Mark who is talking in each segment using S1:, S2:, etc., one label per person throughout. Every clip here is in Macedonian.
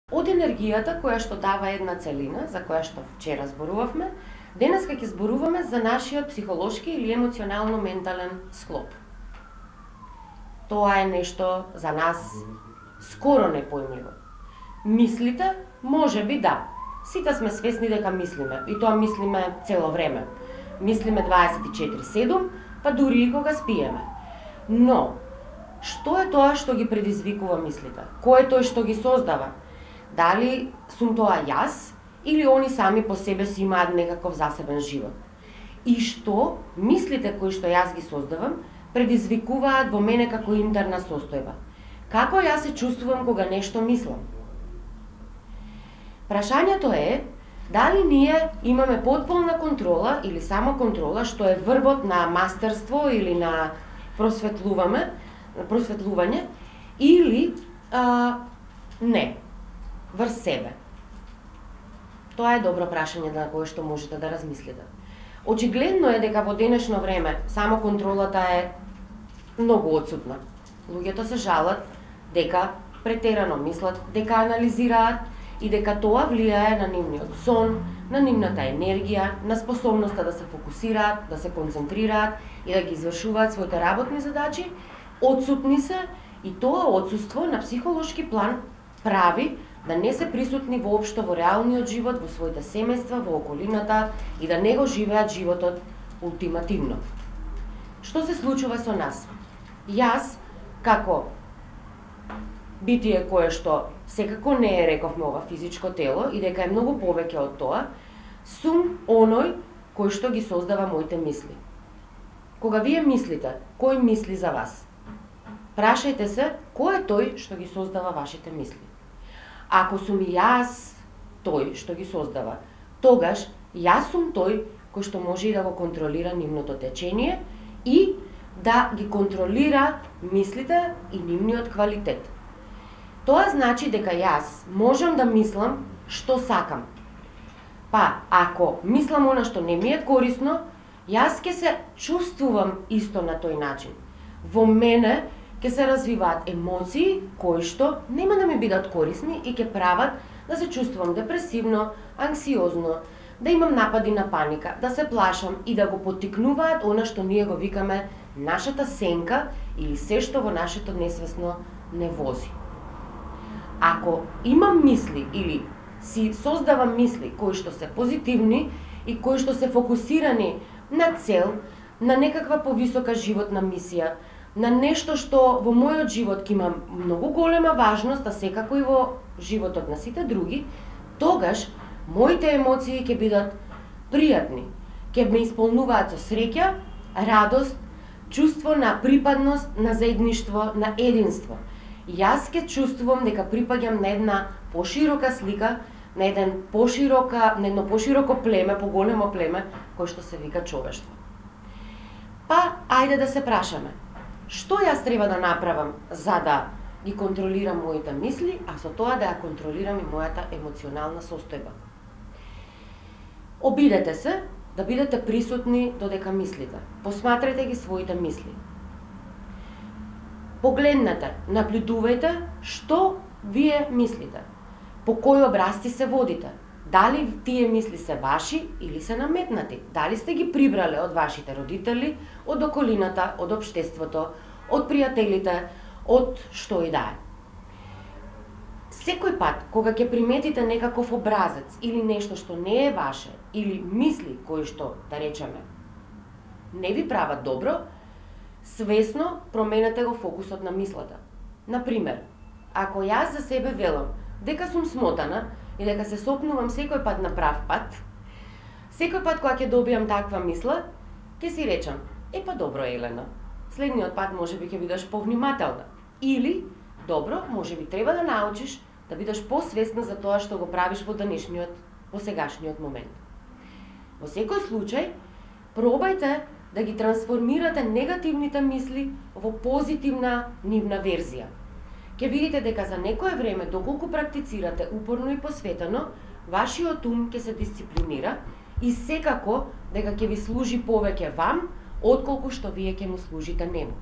S1: Од енергијата која што дава една целина, за која што вчера зборувавме, денеска ќе зборуваме за нашиот психолошки или емоционално-ментален склоп. Тоа е нешто за нас скоро непојмливо. Мислите, може би да. Сите сме свесни дека мислиме, и тоа мислиме цело време. Мислиме 24/7, па дури и кога спиеме. Но, што е тоа што ги предизвикува мислите? Кој е тој што ги создава? Дали сум тоа јас или они сами по себе си имаат некаков засебен живот? И што мислите кои што јас ги создавам предизвикуваат во мене како интерна состојба? Како јас се чувствувам кога нешто мислам? Прашањето е дали ние имаме потполна контрола или само контрола, што е врвот на мастерство или на просветлување, или не, врз себе. Тоа е добро прашање на кое што можете да размислите. Очигледно е дека во денешно време само контролата е многу отсутна. Луѓето се жалат дека претерано мислат, дека анализираат и дека тоа влијае на нивниот сон, на нивната енергија, на способноста да се фокусираат, да се концентрираат и да ги извршуваат своите работни задачи. Отсутни се и тоа отсуство на психолошки план прави да не се присутни воопшто во реалниот живот, во своите семејства, во околината и да не го живеат животот ултимативно. Што се случува со нас? Јас, како битие кое што секако не е, рековме, ова физичко тело и дека е многу повеќе од тоа, сум оној кој што ги создава моите мисли. Кога вие мислите, кој мисли за вас? Прашајте се, кој е тој што ги создава вашите мисли? Ако сум јас тој што ги создава, тогаш јас сум тој кој што може и да го контролира нивното течение и да ги контролира мислите и нивниот квалитет. Тоа значи дека јас можам да мислам што сакам. Па, ако мислам она што не ми е корисно, јас ќе се чувствувам исто на тој начин. Во мене ќе се развиваат емоции кои што нема да ми бидат корисни и ќе прават да се чувствувам депресивно, анксиозно, да имам напади на паника, да се плашам и да го поттикнуваат она што ние го викаме нашата сенка или се што во нашето несвесно не вози. Ако имам мисли или си создавам мисли кои што се позитивни и кои што се фокусирани на цел, на некаква повисока животна мисија, на нешто што во мојот живот ќе има многу голема важност, а секако и во животот на сите други, тогаш моите емоции ќе бидат пријатни, ќе ме исполнуваат со среќа, радост, чувство на припадност, на заедништво, на единство. Јас ќе чувствувам дека припаѓам на една поширока слика, на едно пошироко племе, поголемо племе, кој што се вика човештво. Па, ајде да се прашаме, што јас треба да направам за да ги контролирам моите мисли, а со тоа да ја контролирам и мојата емоционална состојба? Обидете се да бидете присутни додека мислите. Посматрајте ги своите мисли. Погледнете, наблюдувајте што вие мислите. По кои образци се водите? Дали тие мисли се ваши или се наметнати? Дали сте ги прибрале од вашите родители, од околината, од општеството, од пријателите, од што и да е? Секој пат кога ќе приметите некаков образец или нешто што не е ваше, или мисли кои што, да речеме, не ви прават добро, свесно променете го фокусот на мислата. Например, ако јас за себе велам дека сум смотана и дека се сопнувам секој пат на прав пат, секој пат кога ќе добијам таква мисла, ќе си речам, па добро Елена, следниот пат можеби ќе бидеш повнимателна. Или, добро, можеби треба да научиш да бидеш посвесна за тоа што го правиш во сегашниот момент. Во секој случај, пробајте да ги трансформирате негативните мисли во позитивна нивна верзија. Ќе видите дека за некое време, доколку практицирате упорно и посветено, вашиот ум ќе се дисциплинира и секако дека ќе ви служи повеќе вам, отколку што вие ќе му служите нему.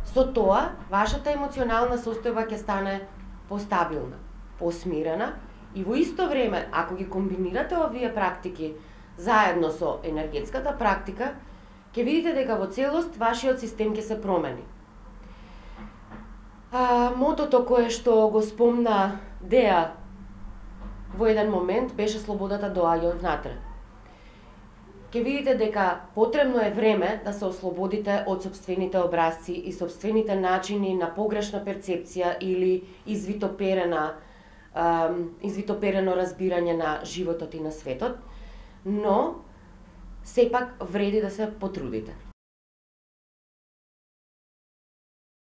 S1: Со тоа, вашата емоционална состојба ќе стане постабилна. посмирена и во исто време, ако ги комбинирате овие практики заедно со енергетската практика, ќе видите дека во целост вашиот систем ќе се промени. Мотото кое што го спомна Деа во еден момент беше слободата доаѓа однатре. Ќе видите дека потребно е време да се ослободите од сопствените образци и сопствените начини на погрешна перцепција или извитоперено разбирање на животот и на светот, но сепак вреди да се потрудите.